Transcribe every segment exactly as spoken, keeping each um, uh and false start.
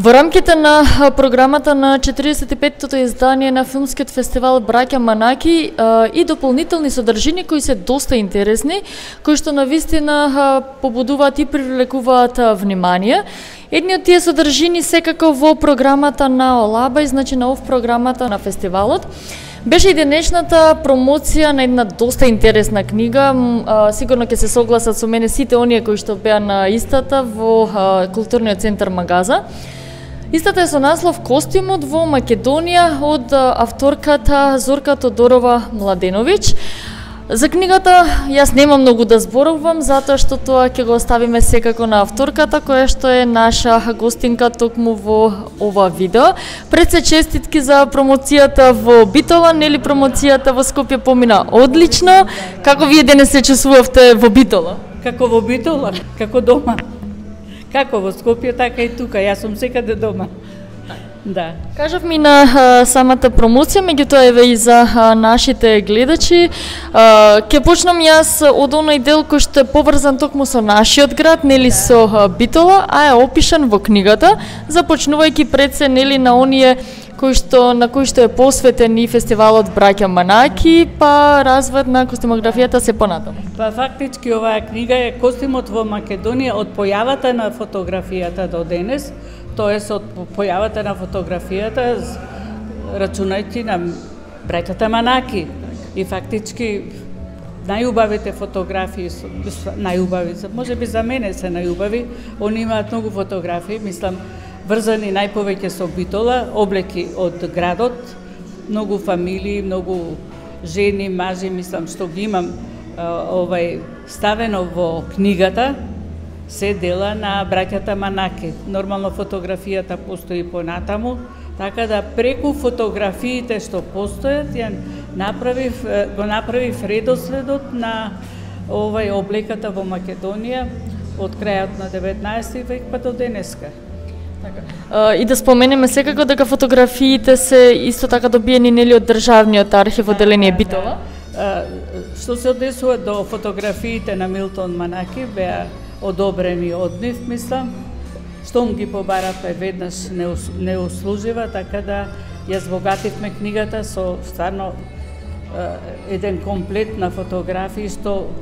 Во рамките на програмата на четиридесет и петтото издание на филмскиот фестивал Браќа Манаки и дополнителни содржини кои се доста интересни, кои што навистина побудуваат и привлекуваат внимание. Едни од тие содржини секако во програмата на Олаба, значи на ов програмата на фестивалот, беше и денешната промоција на една доста интересна книга. Сигурно ќе се согласат со мене сите оние кои што беа на истата во културниот центар Магаза. Истата е со наслов Костимот во Македонија од авторката Зорка Тодорова Младеновиќ. За книгата јас немам многу да зборувам, затоа што тоа ќе го оставиме секако на авторката, која што е наша гостинка токму во ова видео. Пред се честитки за промоцијата во Битола, нели промоцијата во Скопје помина одлично. Како вие денес се чувствувавте во Битола? Како во Битола, како дома. Како во Скопје, така и тука. Јас сум секаде дома. Да. Кажав ми на а, самата промоција, меѓутоа еве и за а, нашите гледачи. А, ке почнам јас од оној дел кој што е поврзан токму со нашиот град, нели да. Со а, Битола, а е опишан во книгата, започнувајќи пред се нели на оние кои што на кои што е посветен и фестивалот Браќа Манаки, па развојот на костимографијата се понатаму. Па фактички оваа книга е Костимот во Македонија од појавата на фотографијата до денес. Тоест од појавата на фотографијата, рачунајќи на браќата Манаки. И фактички најубавите фотографии, најубави, може би за мене се најубави, они имаат многу фотографии, мислам, врзани најповеќе со Битола, облеки од градот, многу фамилии, многу жени, мажи, мислам, што ги имам овај ставено во книгата, се дела на браќата Манаки. Нормално фотографијата постои понатаму, така да преку фотографиите што постојат, ја направив, го направив редоследот на овај облеката во Македонија од крајот на деветнаесети век па до денеска. Така. И да споменеме секако дека фотографиите се исто така добиени нели од државниот архив од Деление Битола. Што се однесува до фотографиите на Милтон Манаки, беа одобрени од нив, мислам, штом ги побаравме веднаш не, не услужива, така да ја збогативме книгата со стварно еден комплет на фотографии што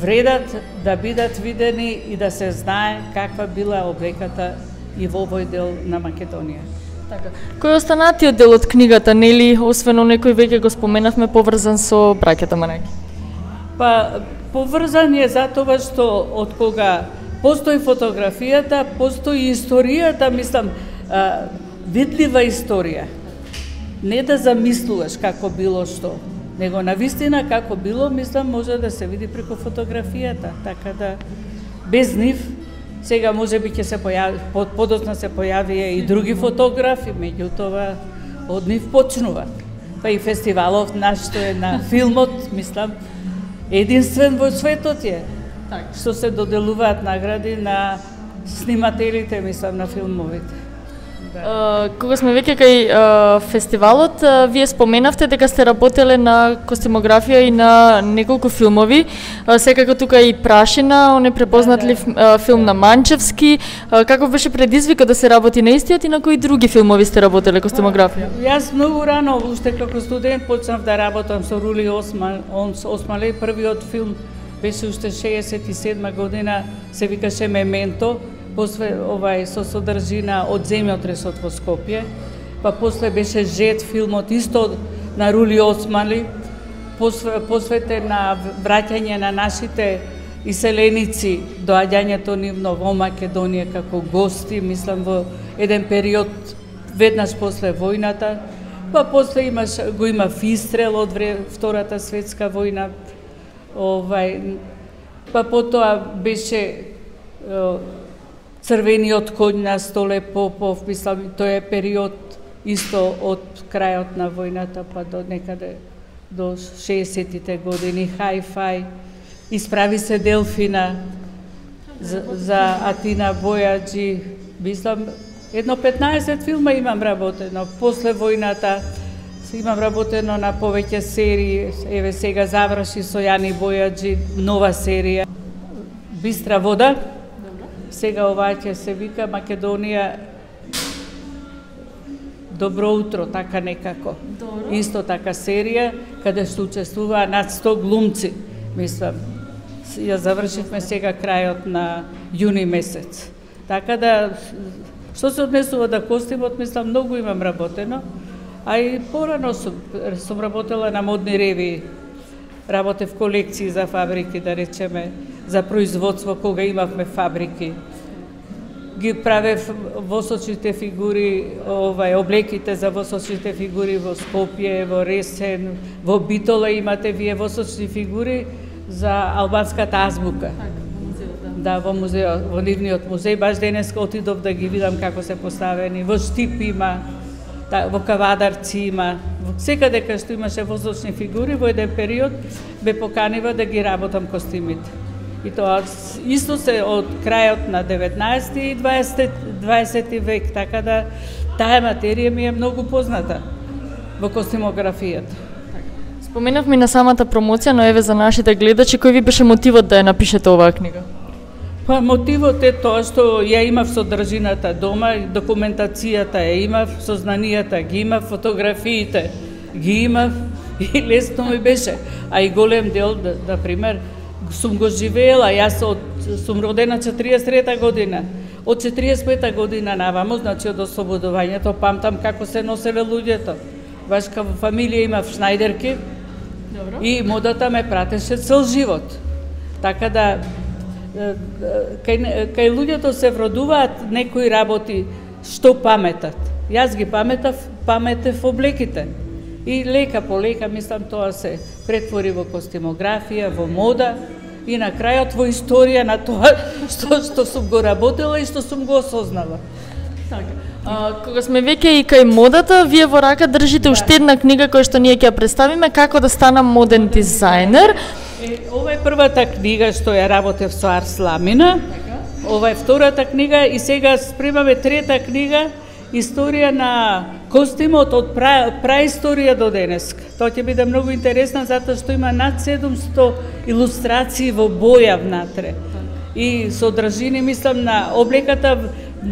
вредат да бидат видени и да се знае каква била облеката и во овој дел на Македонија. Така. Кој е останатиот дел од книгата, нели, освен некој веќе го споменавме поврзан со браќата Манаки? Па поврзан е затоа што од кога постои фотографијата, постои историјата, мислам, а, видлива историја. Не да замислуваш како било што, него навистина како било, мислам, може да се види преку фотографијата, така да без нив сега може би ќе се појави, под, подоцна се појавија и други фотографи, меѓутоа од нив почнува. Па и фестивалов наш што е на филмот, мислам, единствен во светот е, так, што се доделуваат награди на снимателите, мислам, на филмовите. Uh, кога сме веќе кај uh, фестивалот, uh, вие споменавте дека сте работеле на костимографија и на неколку филмови. Uh, секако тука и Прашина, он е препознатлив да, да. Uh, филм на Манчевски. Uh, каков беше предизвикот да се работи на истиот и на кои други филмови сте работеле костимографија? Uh, јас многу рано, уште како студент, почнав да работам со Рули Осмале. Првиот филм беше уште шеесет и седма година, се викаше Мементо. После овај со содржина од земјотресот во Скопје, па после беше Жет филмот исто на Рули Осмали, посветен на враќање на нашите иселеници, доаѓањето нивно во Македонија како гости, мислам во еден период веднаш после војната, па после имаш го има Фистрел од Втората светска војна, овај, па потоа беше Црвениот коњ на Столе Попов, мислам, тој е период исто од крајот на војната па до некаде до шеесеттите години, Хај-Фај, Исправи се Делфина, за, за Атина Бојаджи, мислам, едно петнаесет филма имам работено, после војната имам работено на повеќе серии, еве сега заврши со Јани Бојаджи, нова серија, Бистра вода. Сега ова ќе се вика Македонија Добро утро, така некако. Добро. Исто така серија, каде што учествуваа над сто глумци, мислам. Ја завршивме сега крајот на јуни месец. Така да, што се однесува да костимот, мислам, многу имам работено, а и порано сум, сум работела на модни ревии. Работев колекции за фабрики, да речеме, за производство, кога имавме фабрики. Ги правев восочните фигури, овај, облеките за восочните фигури во Скопје, во Ресен, во Битола имате вие восочни фигури за албанската азбука. Да, во музеот, во нивниот музеј, баш денеска отидов да ги видам како се поставени. Во Штип има, во Кавадарци има, секаде кај што имаше восочни фигури, во еден период ме поканива да ги работам костимите. И тоа исто се од крајот на деветнаесети и дваесети век, така да таа материја ми е многу позната во костимографијата. Споменавме на самата промоција, но еве за нашите гледачи, кој ви беше мотивот да ја напишете оваа книга? Па мотивот е тоа што ја имав содржината дома, документацијата ја имав, сознанијата ги имав, фотографиите ги имав и лесно ми беше. А и голем дел, да, да пример, сум го живеела, јас од, сум родена четириесет и трета година. Од четириесет и пета година навамо, значи од ослободувањето, памтам како се носеле луѓето. Баш као фамилија имав шнајдерки. Добро. И модата ме пратеше цел живот. Така да, кај, кај луѓето се вродуваат некои работи што паметат. Јас ги паметав, паметев облеките. И лека по лека, мислам, тоа се претвори во костимографија, во мода и на крајот во историја на тоа што, што сум го работела и што сум го осознала. Така. А, кога сме веќе и кај модата, вие во рака држите уште една книга која што ние ќе ја представиме, Како да станам моден дизајнер. Е, ова е првата книга што ја работев со Арс Ламина. Ова е втората книга и сега спремаме трета книга, Историја на костимот од пра, праисторија до денеска. Тоа ќе биде многу интересно затоа што има над седумсто илустрации во боја внатре. И содржини, мислам, на облеката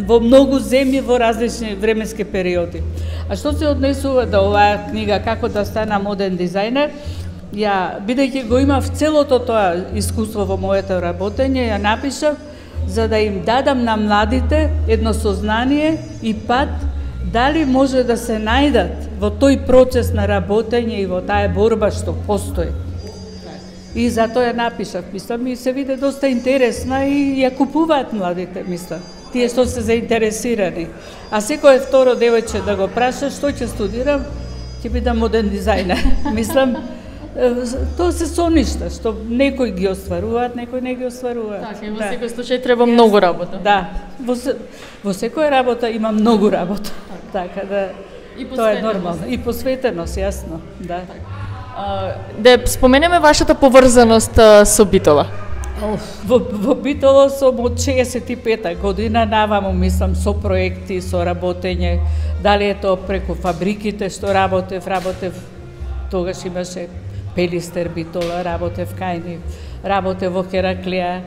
во многу земји во различни временски периоди. А што се однесува до оваа книга Како да станам моден дизајнер, ја, бидејќи го имав целото тоа искуство во моето работење, ја напишав за да им дадам на младите едно сознание и пат дали може да се најдат во тој процес на работење и во таа борба што постои. И затоа ја напишав, мислам, и се виде доста интересна и ја купуваат младите, мислам, тие што се заинтересирани. А секој второ девојче да го праша што ќе студирам, ќе бидам моден дизајнер. Мислам, тоа се соништа, што некои ги остваруваат, некои не ги остваруваат. Така, и во секој случај треба многу работа. Да, во, во секоја работа има многу работа. Така да, тоа е нормално. И посветеност, јасно, да. А, да споменеме вашата поврзаност а, со Битола. Во, во Битола сум од шеесет и пета година наваму, мислам, со проекти, со работење, дали е тоа преку фабриките што работев, работев, тогаш имаше Пелистер Битола, работев кај нив, работев во Хераклија,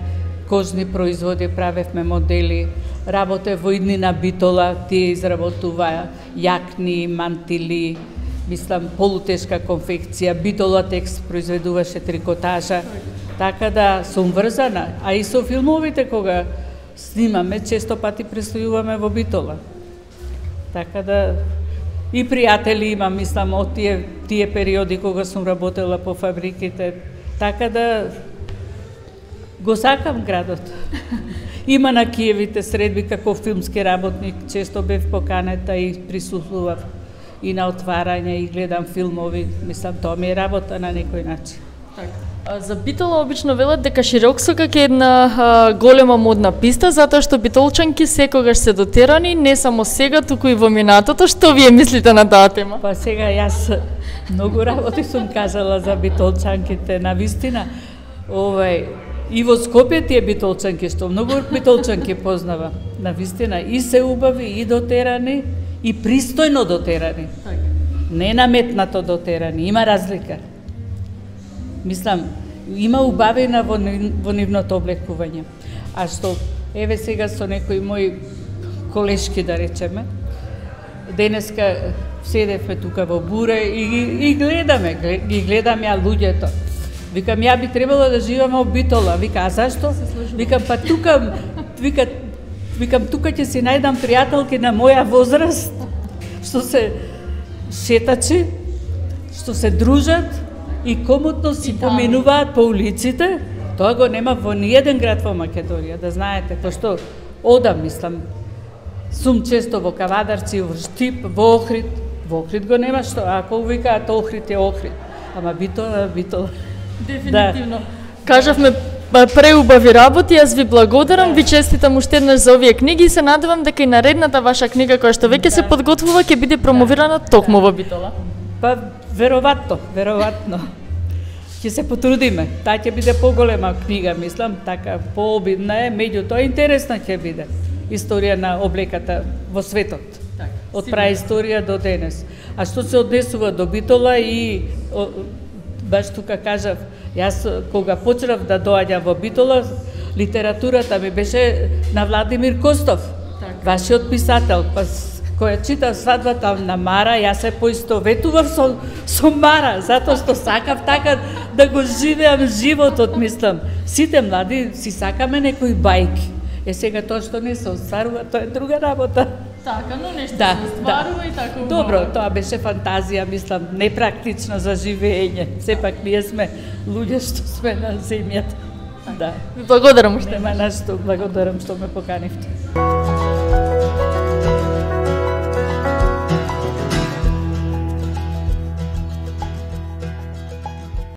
кожни производи, правевме модели, работев во иднина Битола, тие изработуваа јакни, мантили, мислам, полутешка конфекција, Битола текст произведуваше трикотажа, така да сум врзана, а и со филмовите кога снимаме, често пати престојуваме во Битола. Така да и пријатели имам, мислам, од тие, тие периоди кога сум работела по фабриките, така да го сакам градот. Има на Киевите средби како филмски работник, често бев поканета и присуствував и на отварање и гледам филмови, мислам, тоа ми е работа на некој начин. А, за Битола обично велат дека Широксока е една а, голема модна писта, затоа што битолчанки секогаш се дотерани, не само сега, туку и во минатото. Што вие мислите на таа тема? Па сега јас многу работи сум кажала за битолчанките, на вистина. Овај, и во Скопје тие битолчанки, што многу битолчанки познава, на вистина и се убави, и дотерани, и пристојно дотерани. Не наметнато дотерани, има разлика. Мислам, има убавина во, во нивното облекување. А што, еве сега со некои мои колешки, да речеме, денеска седевме тука во буре и, и гледаме, ги гледам ја луѓето. Викам, ја би требало да живеам во Битола. Вика, а зашто? Викам, па тука, вика, викам, тука ќе си најдам пријателки на моја возраст, што се шетачи, што се дружат и комотно си поминуваат по улиците. Тоа го нема во ниеден град во Македонија, да знаете, пошто одам, мислам, сум често во Кавадарци, во Штип, во Охрид. Во Охрид го нема што, ако викаат Охрид е Охрид. Ама Битола, Битола. Дефинитивно. Да. Кажавме преубави работи, јас ви благодарам, да. Ви честитам уште еднаш за овие книги и се надевам дека и наредната ваша книга која што веќе да. Се подготвува ќе биде промовирана да. Токму во Битола. Па веројатно, веројатно. Ќе се потрудиме. Таа ќе биде поголема книга, мислам, така пообидна е, меѓутоа интересна ќе биде. Историја на облеката во светот. Так, од праисторија до денес. А што се однесува до Битола и о, баш тука кажав, јас кога почнав да доаѓам во Битола, литературата ми беше на Владимир Костов, так. Вашиот писател. Па која читав Свадбата на Мара, јас се поистоветував со, со Мара, затоа што сакав така да го живеам животот, мислам. Сите млади си сакаме некои бајки. Е сега тоа што не се остварува, тоа е друга работа. Така, но нешто да, се остварува да. И така убаво. Добро, тоа беше фантазија, мислам, непрактична за живење. Сепак ние сме луѓе што сме на земјата. Да. Благодарам уште. Нема на што, благодарам што ме поканивте.